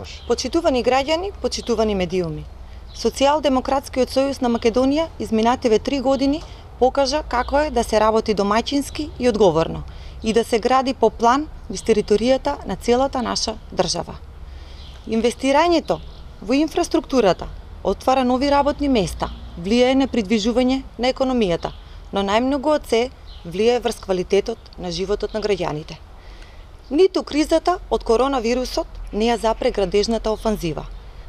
Може. Почитувани граѓани, почитувани медиуми. Социјалдемократскиот сојуз на Македонија изминативе 3 години покажа како е да се работи домаќински и одговорно и да се гради по план низ територијата на целата наша држава. Инвестирањето во инфраструктурата отвара нови работни места, влијае на придвижување на економијата, но најмногу од се влијае врз квалитетот на животот на граѓаните. Ниту кризата од коронавирусот не ја запре градежната офанзива.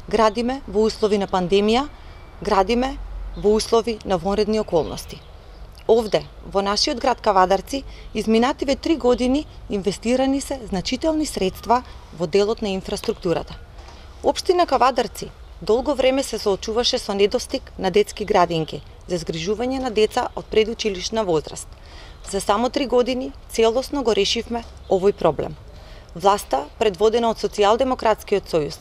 Градиме во услови на пандемија, градиме во услови на вонредни околности. Овде, во нашиот град Кавадарци, изминативе 3 години инвестирани се значителни средства во делот на инфраструктурата. Општина Кавадарци долго време се соочуваше со недостиг на детски градинки за згрижување на деца од предучилишна возраст. За само 3 години целосно го решивме овој проблем. Власта, предводена од Социјалдемократскиот сојуз,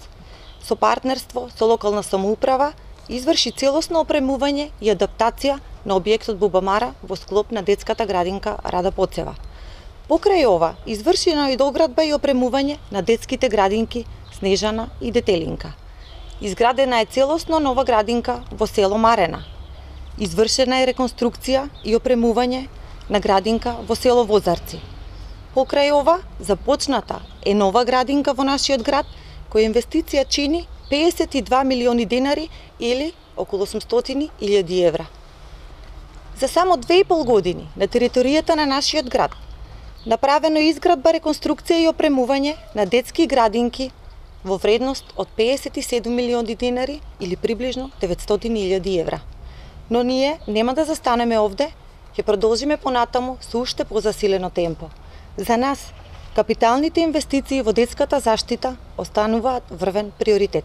со партнерство со локална самоуправа, изврши целосно опремување и адаптација на објектот Бубамара во склоп на детската градинка Рада Поцева. Покрај ова, извршена е доградба и опремување на детските градинки Снежана и Детелинка. Изградена е целосно нова градинка во село Марена. Извршена е реконструкција и опремување на градинка во село Возарци. Покрај ова, започната е нова градинка во нашиот град, која инвестиција чини 52 милиони денари или околу 800.000 евра. За само 2,5 години на територијата на нашиот град направено изградба, реконструкција и опремување на детски градинки во вредност од 57 милиони денари или приближно 900.000 евра. Но ние нема да застанеме овде, ќе продолжиме понатаму со уште позасилено темпо. За нас, капиталните инвестиции во детската заштита остануваат врвен приоритет.